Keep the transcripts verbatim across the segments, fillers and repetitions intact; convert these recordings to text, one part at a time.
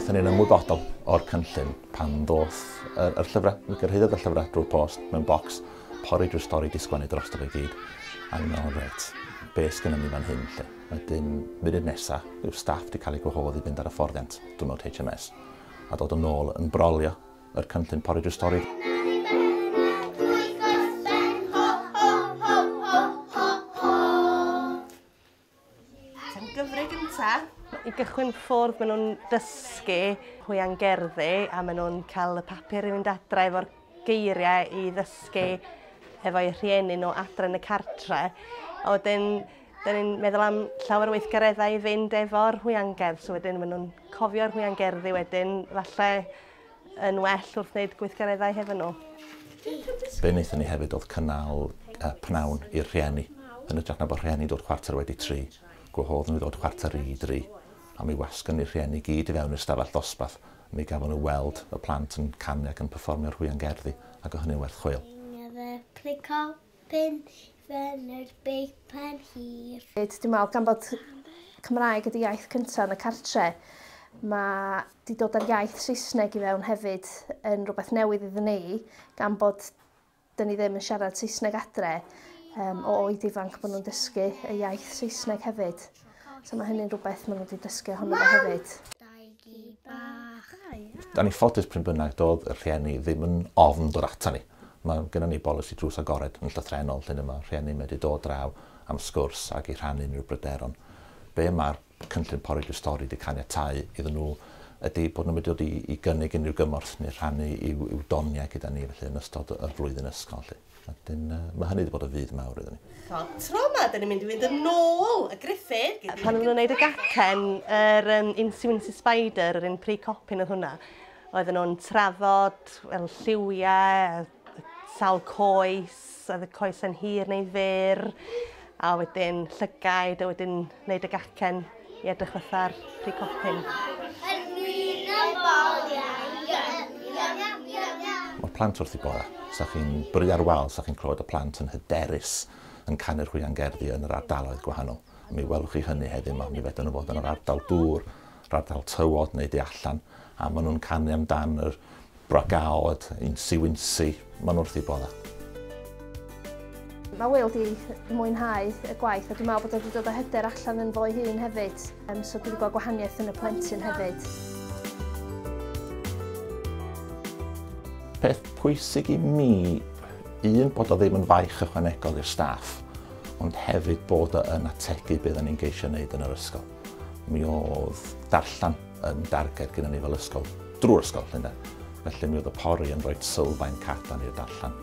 Wnaethon ni'n ymwybodol o'r cynllun pan ddoth yr, yr llyfrau. Mi gyrhaeddodd y llyfrau drwy'r post mewn bocs, Pori Drwy'r Stori di sgwennu drosto fe gyd. A ni'n meddwl, reit, be sgynnon ni fan hyn lle? Wedyn, munud nesaf, yw staff di cael eu gwahodd i fynd ar y hyfforddiant diwrnod H M S a dod yn ôl yn brolio yr cynllun Pori Drwy'r Stori. Gyfri gynta. I gychwyn ffwrdd, maen nhw'n dysgu hwiangerddi a maen nhw'n cael y papur i fynd adre efo'r geiriau i ddysgu efo'u rhieni nhw adre yn y cartre. A wedyn, dyn ni'n meddwl am llawer o weithgareddau i fynd efo'r hwiangerdd, so wedyn maen nhw'n cofio'r hwiangerddi wedyn, falle yn well wrth wneud gweithgareddau hefo nhw. Be wnaethon ni hefyd oedd cynnal uh, pnawn i'r rhieni, yn hytrach na bod rhieni dod chwarter wedi tri. Gwahodd nhw i ddod chwarter i dri, a mi wasgon ni'r rhieni gyd i fewn i'r stafell ddosbarth. Mi gafon nhw weld y plant yn canu ac yn perfformio'r hwiangerddi, ac o hynny'n werth chweil. Dwi'n meddwl, gan bod Cymraeg ydy iaith cyntaf yn y cartre, mae di dod â'r iaith Saesneg i fewn hefyd yn rhywbeth newydd iddyn ni, gan bod dyn ni ddim yn siarad Saesneg adre. Um, o oed ifanc maen nhw'n dysgu y iaith Saesneg hefyd. So mae hynny'n rhywbeth maen nhw wedi dysgu ohono fo hefyd. Da ni ffodus pryn bynnag doedd y rhieni ddim yn ofn dod ata ni. Mae gennym ni bolisi drws agored yn llythrennol lle mae rhieni wedi dod draw am sgwrs ac i rhannu unrhyw bryderon. Be mae'r cynllun Pori Drwy'r Stori wedi caniatáu iddyn nhw ydy bod nhw'n mynd i dod i, i gynnig unrhyw gymorth neu rhannu i'w, i'w doniau gyda ni felly yn ystod y flwyddyn ysgol. Lle. Wedyn, uh, mae hynny wedi bod o fudd mawr iddyn ni. So, tro yma, dyn ni'n mynd i fynd yn ôl y Gruffydd. Pan oedden nhw'n gwneud y gacen, yr um, Incy Wincy Spider, yr un pre-copyn oedd hwnna, oedden nhw'n trafod wel, lliwiau, sawl coes, oedd y coes yn hir neu fyr, a wedyn llygaid, a wedyn wneud y gacen i edrych fatha'r pre-copyn. Mae'r plant wrth eu bodda. Sa chi'n bwrw ar wal, sa chi'n clywed y plant yn hyderus yn canu'r hwiangerddi yn yr ardaloedd gwahanol. Mi welwch chi hynny heddiw yma, mi fedrwn nhw fod yn yr ardal dŵr, yr ardal tywod neu du allan, a maen nhw'n canu amdan yr brogaod, Incy Wincy, maen nhw wrth eu bodda. Mae Will wedi mwynhau y gwaith a dwi'n meddwl bod wedi dod â hyder allan yn fo'i hun hefyd, um, so dwi wedi gweld gwahaniaeth yn y plentyn hefyd. Peth pwysig i mi, un, bod o ddim yn faich ychwanegol i'r staff, ond hefyd bod o yn ategu beth o'n ni'n geisio wneud yn yr ysgol. Mi oedd darllen yn darged gyda ni fel ysgol, drwy'r ysgol, lle. Felly mi oedd y pori yn rhoi sylfaen cadarn i'r darllen.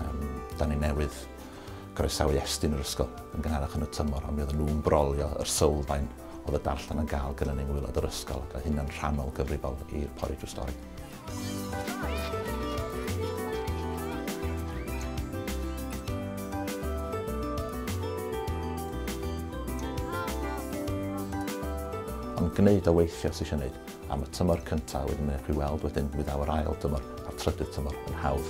Um, da ni newydd groesawu Estyn yr ysgol yn gynharach yn y tymor, a mi oedden nhw'n brolio yr sylfaen oedd y darllen yn gael gyda ni'n ngwaelod yr ysgol, ac oedd hynna'n rhannol gyfrifol i'r Pori Drwy'r Stori. Ond gwneud o weithio sy'n eisiau gwneud am y tymor cyntaf, wedyn mae'n chi weld wedyn mi ddaw yr ail dymor a'r trydydd tymor yn hawdd.